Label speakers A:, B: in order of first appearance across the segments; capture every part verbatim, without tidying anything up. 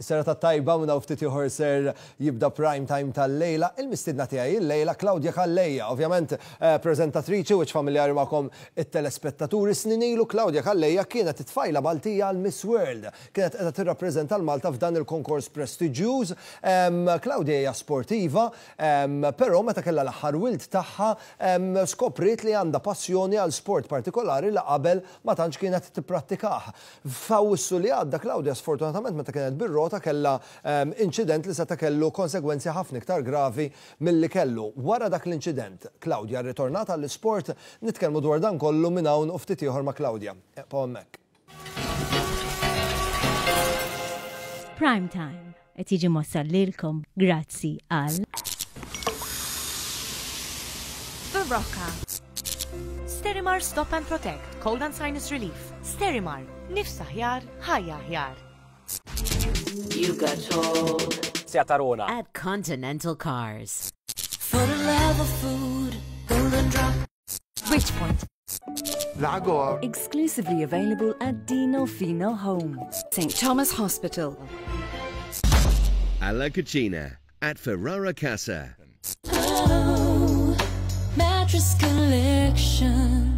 A: Is-serata tajba minn hawn ftit ieħor ser jibda prime time tal-lejla. Il-mistiedna tiegħi il-lejla Claudia Calleja, ovvjament eh, preżentatriċi wiċċ familjari magħkom it-telespettaturi. Snin ilu Claudia Calleja kienet it-tfajla Maltija għal Miss World. Kienet qiegħda tirrappreżenta l-Malta f'dan il-konkors prestiġjuż. Claudia hija sportiva, però meta kellha l-aħħar wild tagħha skopriet li għandha passjoni għal sport partikolari li qabel ma tantx kienet tipprattikah. F'Awwissu li għadda Claudia sfortunatament meta kienet bir-rota kellha um, inċident li seta' kellu konsegwenzi ħafna iktar gravi milli kellu. Wara dak l-inċident, Claudia rritornat għall-isport, nitkellmu dwar dan kollu minn hawn u ftit ieħor ma' Claudia. Ibqgħu hemmhekk.
B: Prime Time qed jiġi mwassal lilkom grazzi għal
C: Berocca. Sterimar Stop and Protect, Cold and Sinus Relief. Sterimar, nifs aħjar, ħajja aħjar.
D: You got told.
E: Seat Arona.
B: At Continental Cars.
D: For the love of food, golden drop.
C: Bridgepoint.
F: Lago.
G: Exclusively available at Dino Fino Home.
H: Saint Thomas Hospital.
I: Alla Cucina at Ferrara Casa.
D: Oh, mattress collection.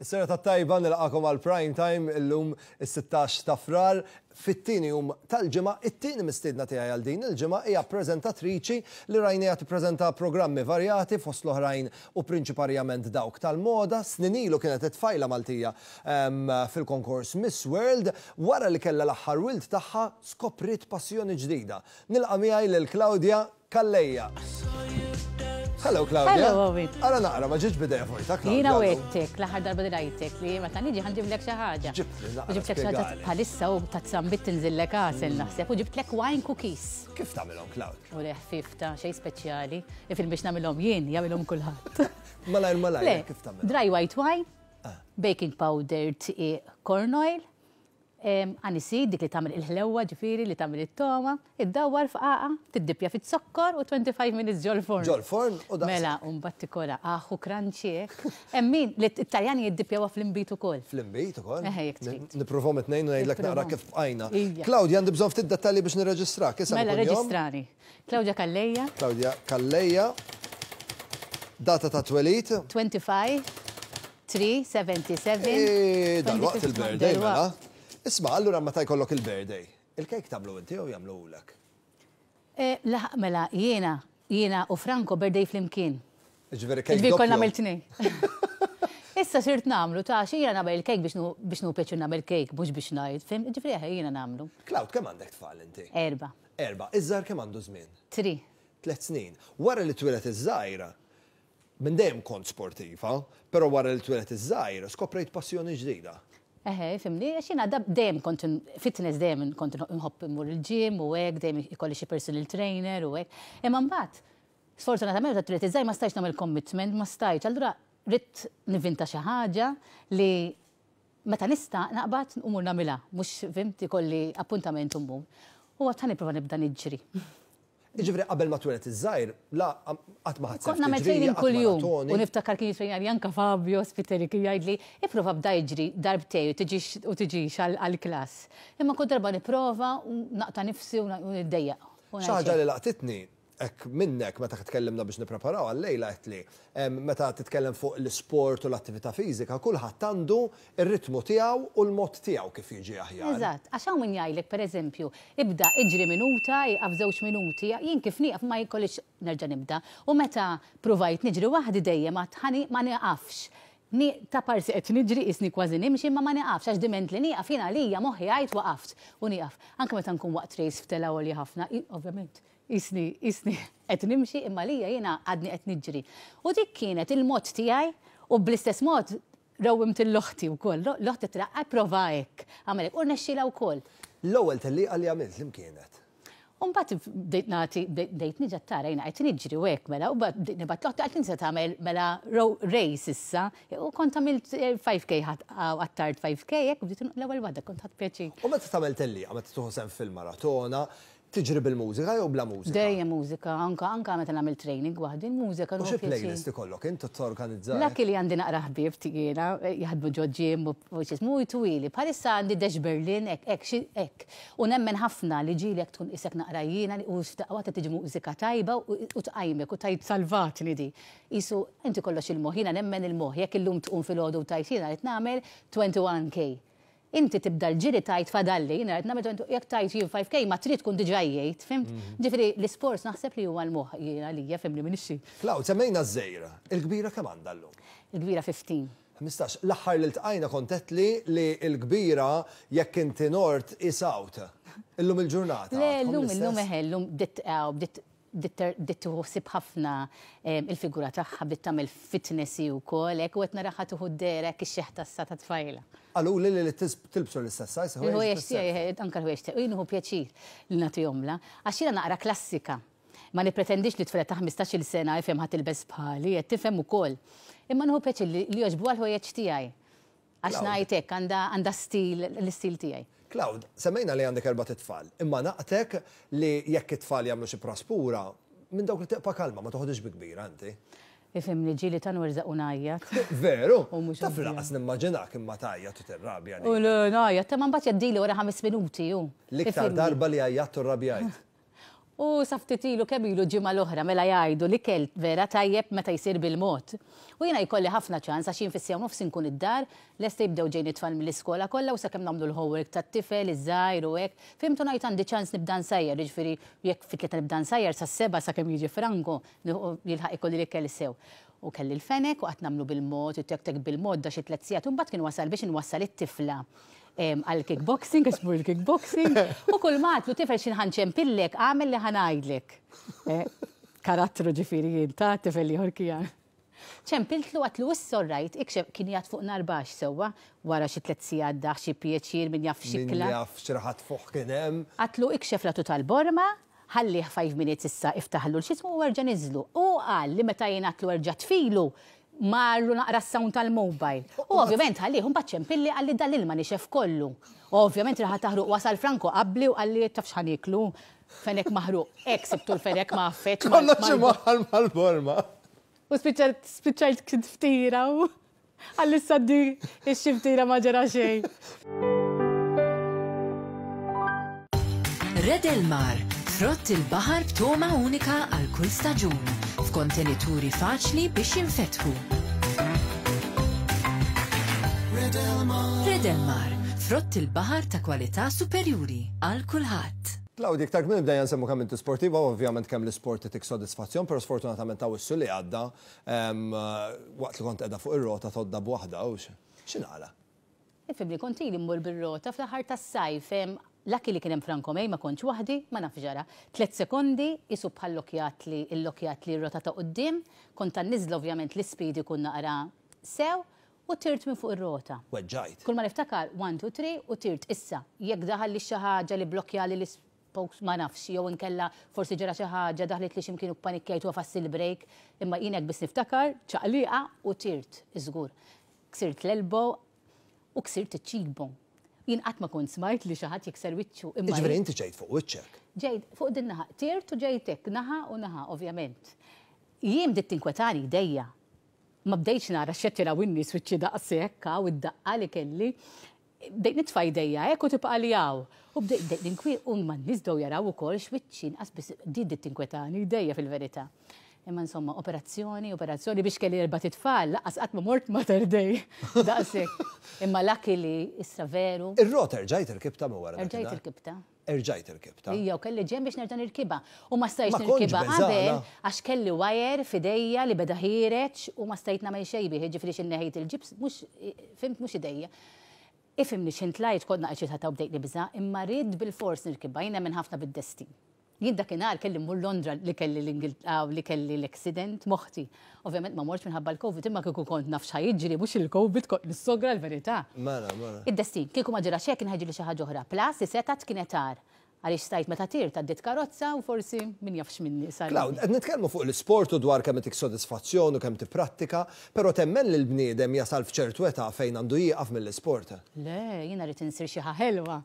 A: Is-serata tajba, nilqakom għal prime time illum is-sittax ta' Frar, fit-tieni jum tal-ġimgħa. It-tieni mistiedna tiegħi għal din il-ġimgħa hija preżentatriċi li rajniha tippreżenta programmi varjati, fost l-oħrajn u prinċiparjament dawk tal-moda. Snin ilu kienet it-tfajla Maltija em, fil-konkors Miss World. Wara li kellha l-aħħar wild tagħha skopriet passjoni ġdida. Nilqa' miegħi lil Claudia Calleja. Hello, Claudia.
J: Hello, Owen.
A: Ara naqra, ma ġietx bidejja vojta, Claudia.
J: Jiena wegħedtek, l-aħħar darba li rajtek, li meta niġi ħa nġiblek xi ħaġa.
A: Ġibtli naqra,
J: U ġibtlek xi ħaġa
A: spjegali.
J: bħalissa u ta' zambit tinżillek għasel naħseb. U ġibtlek wine cookies.
A: Kif tagħmilhom, Claudia?
J: U le ħfif ta' xejn speċjali. Ifil biex nagħmilhom jien, jagħmilhom kulħadd.
A: Malajr malajr,
J: Le,
A: kif tagħmilhom?
J: dry white wine, baking powder, tqiq, corn oil, em, aniseed, dik li tagħmel il-ħlewwa ġifieri li tagħmel it-toma, iddawwar f'qaqa, tiddipja fit-zokkor u twenty-five minutes ġol-forn.
A: Ġol-forn u daqs.
J: Mela, u mbagħad tikola aħu crunchy hekk. Hemm min li t-Taljani jiddipjawha fl-inbid ukoll.
A: Fl-inbid ukoll?
J: Eħe, jekk trid.
A: Nippruvhom it-tnejn u ngħidlek naqra
J: Nippruvhom.
A: kif bqajna.
J: Ija.
A: Claudia, għandi bżonn ftit dettalji biex nirreġistrak. Isem
J: Mela,
A: u kunjom?
J: reġistrani. Claudia Calleja.
A: Claudia Calleja. Data ta' twelid?
J: twenty-five, three, seventy-seven.
A: Eh, dal-waqt il-birthday, mela.
J: Dal-waqt.
A: Isma', allura meta jkollok il-birthday, il-kejk tagħmlu inti jew jagħmluhulek?
J: Eh, laħ, mela, jiena, jiena u Franco birthday flimkien.
A: Ġifieri kejk
J: Ġifieri konna
A: doppju.
J: għamilt tnejn. Issa sirt nagħmlu, ta' xi jiena nagħmel il-kejk biex nu-, biex nu pjaċir nagħmel kejk, mhux biex ngħid, fim? Ġifieri eħe, jiena nagħmlu.
A: Claud, kemm għandek tfal inti?
J: Erba.
A: Erba. Iż-żgħar kemm għandu żmien?
J: Three.
A: Tliet snin. Wara li twieled iż-żgħira, minn dejjem kont sportiva, però wara li twieled iż-żgħira skoprejt passjoni ġdida.
J: Eħe, fimni, għax jiena dab dejjem kont n-, fitness dejjem kont nħobb immur il-gym u hekk, dejjem ikolli xi personal trainer u hekk. Imma mbagħad, sfortunatament meta twieled iż-żgħir ma stajtx nagħmel commitment, ma stajtx. Allura ridt nivvinta xi ħaġa li meta nista' naqbad u mmur nagħmilha, mhux fimt ikolli appuntament u mmur. U għad ħa nipprova nibda niġri.
A: Jiġifieri qabel ma twieled iż-żgħir, la qatt ma ħadd
J: Kont nagħmel
A: tiġrija,
J: training
A: qatt
J: kuljum.
A: maratoni.
J: U niftakar kien jitrejna Janka Fabio Spiteri kien jgħidli, ipprova bda jiġri darbtej u tiġix u tiġix għal-, għall-klass. Imma kull darba nipprova u naqta' nifsi u na-, u niddejjaq. U
A: Xi ħaġa
J: ngħid
A: li laqtitni hekk minnek meta tkellimna biex nippreparaw għal-lejla qed li, em, meta titkellem fuq l-isport u l-attività fiżika, kulħadd għandu ir-ritmu tiegħu u l-mod tiegħu kif jiġi aħjar.
J: Eżatt, għax hawn min jgħidlek pereżempju, ibda iġri minuta, ieqaf żewġ minuti, jien kif nieqaf ma jkollix nerġa' nibda. U meta provajt niġri waħdi dejjem għad ħani ma nieqafx. Ni ta' parsi qed niġri isni kważi nimxi imma ma nieqafx għax diment li nieqaf jiena għalija moħħi għajt waqaft u nieqaf. Anke meta nkun waqt race f'tela għolja ħafna, i-, ovvjament, isni, isni qed nimxi imma lija jiena għadni qed niġri. U dik kienet il-mod tiegħi u bl-istess mod rawwimt l-oħti wkoll. Lo-, l-oħti tela' prova hekk, għamel hekk u rnexxielha wkoll.
A: L-ewwel tellieqa li għamilt li kienet?
J: U mbagħad bdejt nagħti, bdejt niġi tara jiena qed niġri u hekk mela, u mbagħad bdejt nibgħat l-oħti għalt insa tagħmel mela ro-, race issa, u kont għamilt, eh, five K ħadd, għattard five K hekk, u bdejt l-ewwel waħda kont ħadd pjaċir.
A: U meta tagħmel tellieqa, meta tieħu sehem fil-maratona, Tiġri bil-mużika jew bla mużika?
J: Dejjem mużika, anka anka meta nagħmel training waħdi l-mużika.
A: U xi playlist ikollok inti torganizza?
J: Lucky li għandi naqra ħbieb tiegħina jaħdmu ġo gym u x'ismu jtwili. Bħalissa għandi Dash Berlin hekk hekk hekk. U nemmen ħafna li ġieli tkun isek naqra jiena u f'daqqa waħda tiġi mużika tajba u tqajmek u tajt salvatni di. Isu inti kollox il-moħħ, jiena nemmen il-moħħ, jekk illum tqum filgħodu u tajt jiena qed nagħmel twenty-one K. Inti tibda l-ġiri tajt fadalli, jiena qed nagħmel jekk tajt jien five K ma trid tkun diġà jgħid, fimt? Ġifieri l-isports naħseb li huwa l-moħħ jiena għalija, fimni minn ixxi.
A: Klaw, semmejna ż-żejra, il-kbira kemm għandha llum?
J: Il-kbira fifteen.
A: Ħmistax, l-aħħar li ltqajna kont li li l-kbira jekk inti nort is out. Illum il-ġurnata.
J: Le, llum illum eħe, llum bdiet bdiet tħossib ħafna il-figura tagħha, bdiet tagħmel fitness ukoll, hekk u qed naraha tieħu d-dehra hekk ix-xeħta sa ta' tfajla.
A: Qalu li li tilbsu l-istess size?
J: Il-ħwejjeġ tiegħi, anke l-ħwejjeġ tiegħi, u jien nieħu pjaċir li nagħtihomlha, għax jiena naqra klassika. Ma nippretendix li tfajla ta' ħmistax-il sena ifhem ħa tilbes bħali, qed tifhem ukoll. Imma nieħu pjaċir li jogħġbuha l-ħwejjeġ tiegħi. Għax ngħid hekk għandha stil l-istil tiegħi.
A: Claude, semmejna li għandek erba' tfal, imma naqtek li jekk it-tfal jagħmlu xi praspura, minn dawk li tibqa' kalma, ma toħodix bi kbira inti.
J: Ifhimni ġieli ta' nwerżaq u ngħajjat.
A: Veru? Taf laqas nimmaġinak imma tgħajjat u tirrabja.
J: U le ngħajjat, ta' ma mbagħad jgħaddili wara ħames minuti hu.
A: L-iktar darba li għajjat u rrabjajt.
J: U sa ftit ilu kemm ilu ġimgħa l-oħra mela jgħidu li kell vera tajjeb meta jsir bil-mod. U jiena jkolli ħafna ċans għax jien fis-sija nofs inkun id-dar, lesta jibdew ġejjin it-tfal mill-iskola kollha u sakemm nagħmlu l-homework tat-tifel, iż-żgħir u hekk. Fimtu ngħid għandi ċans nibda nsajjar, jiġifieri jekk fit-tlieta nibda nsajjar sas-seba' sakemm jiġi Franco jilħaq ikolli l-ikel sew. U kelli l-fenek u qatt nagħmlu bil-mod, u tek tek bil-mod da xi tliet sigħat, u mbagħad kien wasal biex inwassal it-tifla għal kickboxing, għax mur il-kickboxing, u kull ma għatlu tifel xi ħanċempillek, għamel li ħanajdlek. Karattru ġifieri jien ta' tifel ieħor kien. Ċempiltlu għatlu issa rajt, ikxef kien jgħat fuq nar baxx sewwa, wara xi tliet sigħat daħ xi pjaċir min jaf xikla.
A: Min jaf xi raħat fuq kien hemm.
J: Għatlu ikxef latu tal-borma, ħallih five minutes issa iftaħlu l-xismu u erġa' niżlu. U qal li meta jien għatlu erġa' tfilu, marru naqra s-sound tal-mobile. U ovvjament ħallih mbagħad ċempilli qalli dal-ilma nixef kollu. U ovvjament raħa taħruq wasal Franco qabli u qalli taf x'ħa nieklu, fenek maħruq. Hekk sibtu l-fenek ma affeċ.
A: Kollox imwaħħal mal-borma.
J: U spiċċajt spiċċajt kint ftira u qalli issa di x-xiftira ma ġara xejn.
G: Red Elmar, frott il-baħar b'toma unika għal kull staġun, f'kontenituri faċli biex jinfetħu. Red Elmar, frott il-baħar ta' kwalità superjuri għal kulħadd.
A: Claudia, iktar kmieni bdejna nsemmu kemm inti sportiva, ovvjament kemm l-isport itik sodisfazzjon, però sfortunatament ta' wissu li għadda waqt li kont qiegħda fuq ir-rota tgħodda b'waħda u x'inqala?
J: Ifhimni, kont ili mmur bir-rota fl-aħħar tas-sajf, lucky li kien hemm Franco May, ma kontx waħdi, ma nafx ġara. Tliet sekondi isu bħal lokjat li l-lokjat li r-rota ta' quddiem, kont tan-niżla ovvjament l-ispeed ikun naqra sew u tirt minn fuq ir-rota.
A: Weġġajt.
J: Kull ma niftakar one, two, three u tirt issa. Jekk daħal li xi ħaġa li blokjali l-spokes ma nafx, jew inkella forsi ġara xi ħaġa daħlet li x'imkien u panikkjajt u għafast il-break, imma jien hekk biss niftakar ċaqliqa u tirt, iżgur. Ksirt l-elbow u ksirt iċ-cheekbone. Jien qatt ma kont smajt li xi ħadd jikser wiċċu. Imma
A: Jiġifieri inti ġejt fuq wiċċek.
J: Ġejt fuq din naħa, tirt u ġejt hekk, naħa u naħa, ovvjament. Jien bdiet tinkwetani idejja. Ma bdejtx nara x'qed jaraw in-nies wiċċi daqshekk hawn id-daqqa li kelli. Bdejt nitfa' idejja hekk u tibqa' li hawn. U bdejt bdejt ninkwi u ma n-nies bdew jaraw ukoll x'wiċċi inqas biss di bdiet tinkwetani idejja fil-verità. Imma insomma, operazzjoni, operazzjoni biex kelli erba' titfal, laqas qatt ma mort Mater Dei. Daqshekk. Imma lucky li issa veru.
A: Ir-rota erġajt irkibta minn wara
J: Erġajt
A: dakinhar?
J: irkibta.
A: Erġajt irkibta.
J: Ija, u kelli ġen biex nerġa' nirkibha. U ma stajtx
A: Ma kontx
J: nirkibha
A: beżgħana.
J: qabel għax kelli wire f'idejja li beda ħiereġ u ma stajt nagħmel xejn bih, jiġifieri xi neħejt il-ġibs, mhux fimt mhux idejja. Ifhimni x'int tlajt kont naqgħet xi ħadd u bdejt nibża', imma rrid bil-fors nirkibha, jiena minn ħafna bid-destin. Jien dakinhar kelli mmur Londra li kelli l-Ingilterra li kelli l-accident moħti. Ovvjament ma mortx minħabba l-Covid, imma kieku kont naf x'ħa jiġri, mhux il-Covid kont nissogra l-verità.
A: Mela, mela.
J: Id-destin, kieku ma ġara xejn kien ħajġri xi ħaġa oħra. Plus, is-setat kienet għar. Għaliex stajt meta tirt għaddiet karozza u forsi min jafx minni sar.
A: Claude, qed nitkellmu fuq l-isport u dwar kemm itik sodisfazzjon u kemm tipprattika, però temmen li l-bniedem jasal f'ċertu età fejn għandu jieqaf mill-isport.
J: Le, jiena rrid insir xi ħelwa.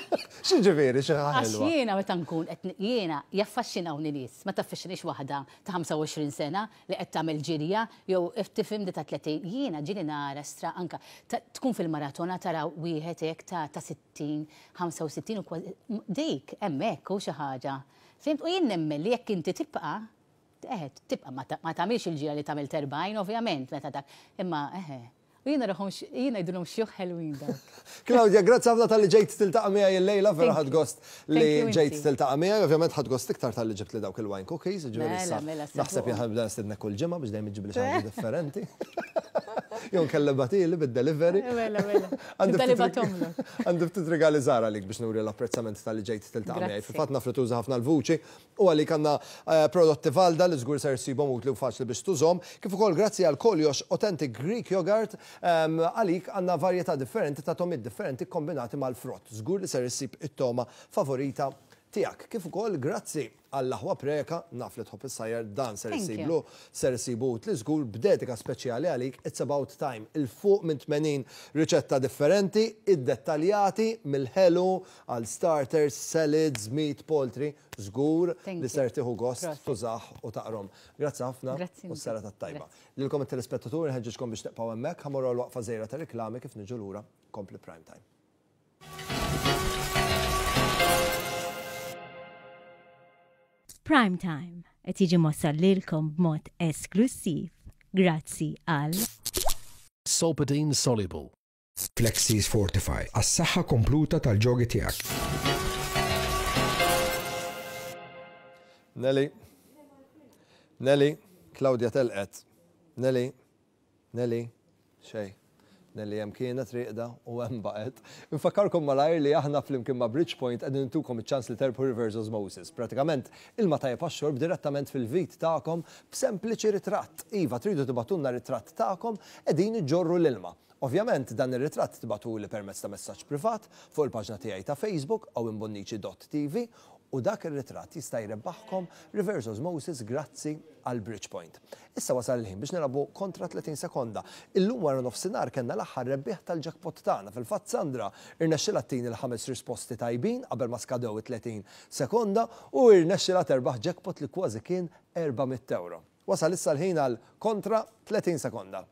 A: X'jiġifieri xi ħelwa?
J: Għax jiena meta nkun qed jiena jaffaxxinawni nies, ma taffaxxinix waħda ta' ħamsa u għoxrin sena li qed tagħmel ġirja jew tifhem di ta' tletin. Jiena ġieli nara stra anka tkun fil-maratona tara wieħed hekk ta' sittin, ħamsa u sittin u kważi dik hemmhekk hu xi ħaġa. Fimt? U jien nemmen li jekk inti tibqa' eħe, tibqa' ma tagħmilx il-ġirja li tagħmel erbgħin ovvjament meta dak, imma eħe. U jiena raħom jiena jgħidulhom xjuħ ħelwin dak.
A: Claudia, grazzi ħafna tal-li ġejt tiltaqa' miegħi llejla, vera ħadt gost li ġejt tiltaqa' miegħi, ovvjament ħadt gost iktar tal-li ġibt li dawk il-wine cookies, ġifieri issa naħseb jien ħanibda nistednek kull ġimgħa biex dejjem iġġibli xi ħaġa differenti. Jew nkellem batili bid-delivery.
J: Mela, mela.
A: Għandi ftit rigali żgħar għalik biex nuri l-apprezzament tal-li ġejt tiltaqa' miegħi. Fil-fatt naf li tuża ħafna l-vuċi u għalik għandna prodotti Valda li żgur ser issibhom utli u faċli biex tużhom, kif ukoll grazzi għal Koljox Authentic Greek Yogurt għalik għandna varjetà differenti ta' tomiet differenti kombinati mal-frott. Żgur li ser issib it-toma favorita tiegħek. Kif ukoll grazzi għall-aħwa Preka, naf li tħobb is-sajjar, dan ser issiblu, ser issibu utli żgur b'dedika speċjali għalik It's About Time. Il-fuq minn tmenin riċetta differenti, iddettaljati mill-ħelu għal starters, salads, meat, poultry, żgur li ser tieħu gost tużah u taqrom. Grazzi ħafna u s-sera tat-tajba. Lilkom it-telespettaturi nħeġġiġkom biex tibqgħu hemmhekk, ħa morru l-waqfa żgħira ta' riklami kif niġu lura kompli Prime Time.
B: Prime Time qed jiġi mossal lilkom b'mod esklusiv grazzi għal
E: Solpadeine Soluble.
F: Flexis Fortify għas-saħħa kompluta tal-ġogi tiegħek.
A: Nelly, Nelly, Claudia telqet. Nelly, Nelly, xej. Nelly hemm kienet riqda u hemm baqgħet. Infakkarkom malajr li aħna flimkien ma' Bridgepoint qegħdin intukom iċ-ċans li terbħu Reverse Osmosis. Pratikament ilma tajjeb għax-xorb direttament fil-vit tagħkom b'sempliċi ritratt. Iva, tridu tibgħatulna ritratt tagħkom qegħdin iġorru l-ilma. Ovvjament dan ir-ritratt tibgħatuli permezz ta' messaġġ privat fuq il-paġna tiegħi ta' Facebook owen bonnici dot T V u dak ir-ritratt jista' jrebbaħkom Reverse Osmosis grazzi għal Bridgepoint. Issa wasal il-ħin biex nilagħbu kontra tletin sekonda. Illum wara nofsinhar kellna l-aħħar rebbieħ tal-jackpot tagħna. Fil-fatt Sandra irnexxilha ttini l-ħames risposti tajbin qabel ma skadew it-tletin sekonda u irnexxilha terbaħ jackpot li kważi kien erba' mitt euro. Wasal issa l-ħin għal kontra tletin sekonda.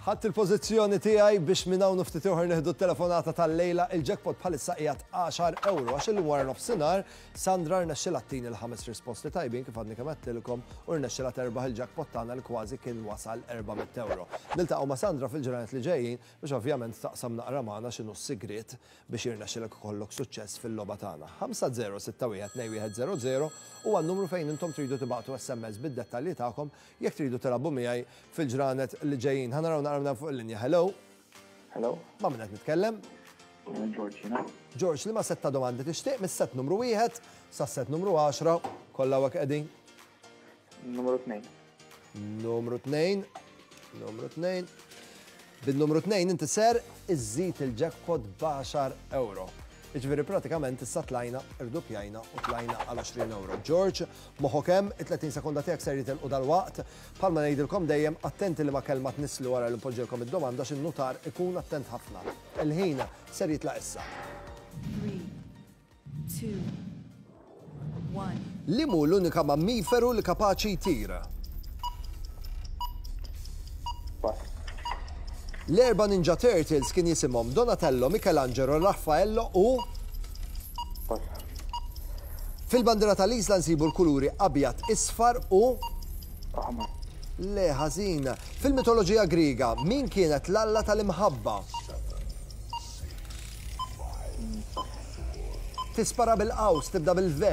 A: Ħadd il-pożizzjoni tiegħi biex minn hawn ftit ieħor nieħdu t-telefonata tal-lejla. Il-jackpot bħalissa qiegħed għaxar euro għax illum wara nofsinhar Sandra rnexxilha ttini l-ħames risposti tajbin kif għadni kemm għedtilkom u rnexxilha terbaħ il-jackpot tagħna li kważi kien wasal erba' mitt euro. Niltaqgħu ma' Sandra fil-ġranet li ġejjin biex ovvjament taqsam naqra magħna x'inhu s-sigriet biex jirnexxilek ikollok suċċess fil-logħba tagħna. ħamsa zero sitta wieħed tnejn wieħed zero zero huwa n-numru fejn intom tridu tibgħatu S M S bid-dettalji tagħkom jekk tridu tilagħbu miegħi fil-ġranet li ġejjin. Ħa naraw naqra fuq il-linja. Hello.
K: Hello.
A: Ma' min qed nitkellem?
K: George, jiena.
A: George, li ma setta domandi tixtieq mis-set numru wieħed sa set numru għaxra, kollha hawnhekk qegħdin.
K: Numru tnejn.
A: Numru tnejn. Numru tnejn. Bin-numru tnejn inti ser iżżid il-jackpot b'għaxar euro. Jiġifieri pratikament issa tlajna, irdupjajna u tlajna għal għoxrin euro. George, moħħok hemm, it-tletin sekonda tiegħek ser jitilqu dal-waqt. Bħalma ngħidilkom dejjem attenti li ma kelma tnisslu wara li npoġġilkom id-domanda x'in nutar ikun attent ħafna. Il-ħin ser jitlaq issa.
H: Three, two, one.
A: Li mhu l-unika mammiferu li kapaċi jtir? L-erba' Ninja Turtles kien jisimhom Donatello, Michelangelo, Raffaello u Fil-bandira tal-Isla nsibu l-kuluri abjad, isfar u
K: aħmar.
A: Le, ħażin. Fil-mitoloġija Griega, min kienet l-alla tal-imħabba? Tispara bil-qaws, tibda bil-V.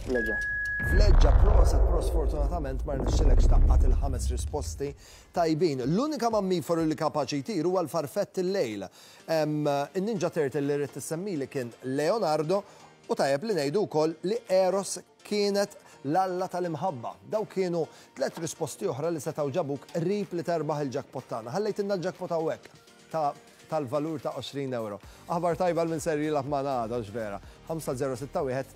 K: Vleġġa.
A: Vleġġa, proset, pros, fortunatament ma rnexxilekx taqqat il-ħames risposti tajbin. L-unika mammiferu li kapaċi jtir huwa l-farfett il-lejl. In-Ninja Turtle li rrid tissemmili kien Leonardo u tajjeb li ngħidu wkoll li Eros kienet l-alla tal-imħabba. Daw kienu tliet risposti oħra li setgħu ġabuk qrib li terbaħ il-jackpot tagħna. Ħallejtilna l-jackpot hawnhekk ta' tal-valur ta' għoxrin euro. Aħbar tajba minn ser jilgħab magħna għada, vera. ħamsa żero sitta wieħed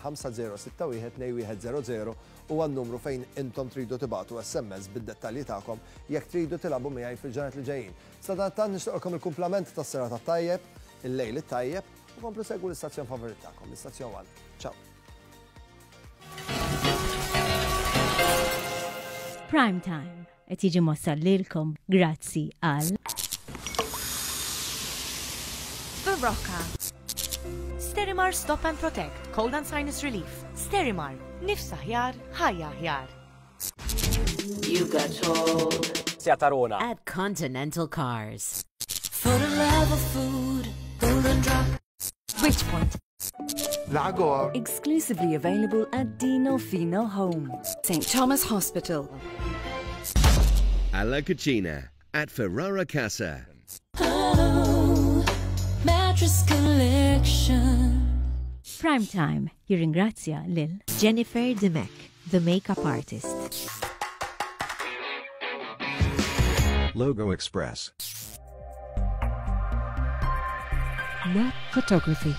A: ħamsa żero sitta wieħed tnejn wieħed żero żero huwa n-numru fejn intom tridu tibagħtu S M S bid-dettalji tagħkom jekk tridu tilagħbu miegħi fil-ġranet li ġejjin. Sadanittant nixtieqilkom il-kumplament tas-serata tajjeb, il-lejl it-tajjeb u komplu segwu l-istazzjon favorit tagħkom, l-istazzjon One. Ciao.
B: Prime Time qed jiġi mwassal lilkom grazzi għal
C: Berocca. Sterimar Stop and Protect, Cold and Sinus Relief. Sterimar, nifs aħjar, ħajja aħjar.
G: You got told.
L: Seat Arona.
G: At Continental Cars.
D: For the love of food, Golden Drop.
H: Bridgepoint.
F: Lago.
H: Exclusively available at Dino Fino Home. Saint Thomas Hospital.
I: Alla Cucina at Ferrara Casa.
D: Oh, mattress collection.
B: Prime Time jirringrazzja lil
M: Jennifer Dimech, the makeup artist.
F: Logo Express.
G: Net Photography.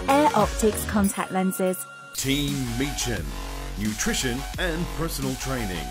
H: Air Optics contact lenses.
N: Team Meechan, nutrition and personal training.